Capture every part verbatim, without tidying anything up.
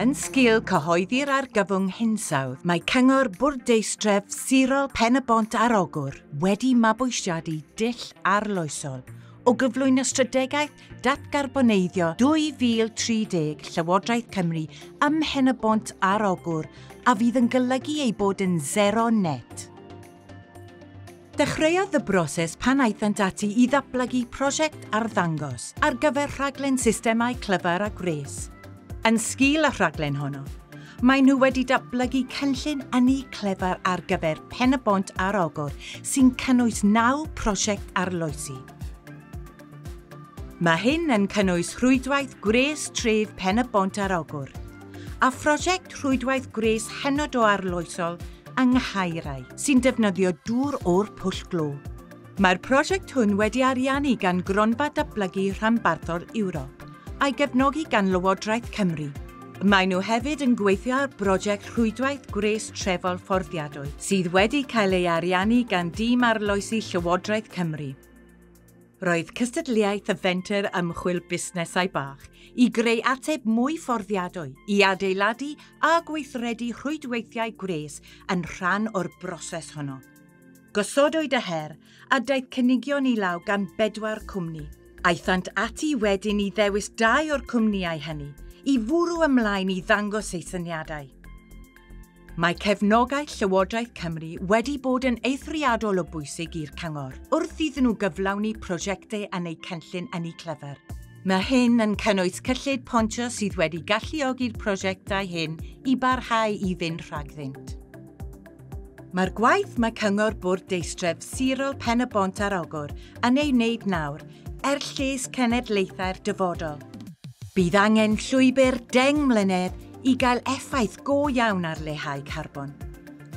Yn sgil cyhoeddi'r argyfwng hinsawdd, mae Cyngor Bwrdeistref Sirol Pen-y-bont ar Ogwr wedi mabwysiadu dull arloesol o gyflwyno strategaeth datgarboneiddio dwy fil tri deg Llywodraeth Cymru ym Mhen-y-bont ar Ogwr a fydd yn golygu ei bod yn sero net. Dechreuodd y broses pan aethant ati i ddatblygu prosiect arddangos ar gyfer rhaglen systemau clyfar a gwres. Yn sgil y rhaglen honno, maen nhw wedi datblygu cynllun ynni clefar ar gyfer Pen-y-bont ar Ogwr sy'n cynnwys naw prosiect arloesi. Mae hyn yn cynnwys rhwydwaith gwres tref Pen-y-bont ar Ogwr a phrosiect rhwydwaith gwres hynod o arloesol yng Nghaerau sy'n defnyddio dŵr o'r pwll glo. Mae'r prosiect hwn wedi ariannu gan Gronfa Datblygu Rhanbarthol Ewrop a'i gefnogi gan Lywodraeth Cymru. Maen nhw hefyd yn gweithio ar brosiect rhwydwaith gwres trefol fforddiadwy sydd wedi cael ei ariannu gan dîm arloesi Llywodraeth Cymru. Roedd cystadleuaeth y fenter ymchwil busnesau bach i greu ateb mwy fforddiadwy i adeiladu a gweithredu rhwydweithiau gwres yn rhan o'r broses honno. Gosodwyd y her a daeth cynigion i law gan bedwar cwmni. Aethant ati wedyn i ddewis dau o'r cwmnïau hynny i fwrw ymlaen i ddangos eu syniadau. Mae cefnogaeth Llywodraeth Cymru wedi bod yn eithriadol o bwysig i'r cyngor wrth iddyn nhw gyflawni prosiectau yn eu cynllun ynni clyfar. Mae hyn yn cynnwys cyllid pontio sydd wedi galluogi'r prosiectau hyn i barhau i fynd rhagddynt. Mae'r gwaith mae Cyngor Bwrdeistref Sirol Pen-y-bont ar Ogwr yn ei wneud nawr er lles cenedlaethau'r dyfodol. Bydd angen llwybr deng mlynedd i gael effaith go iawn ar leihau carbon.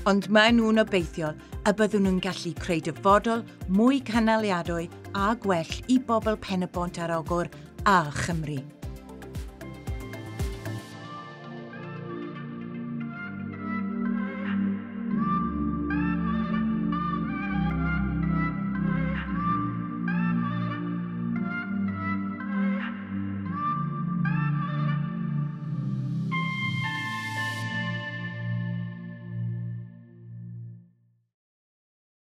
Ond maen nhw'n obeithiol y byddwn nhw'n gallu creu dyfodol mwy cynaliadwy a gwell i bobl Pen-y-bont ar Ogwr a Chymru.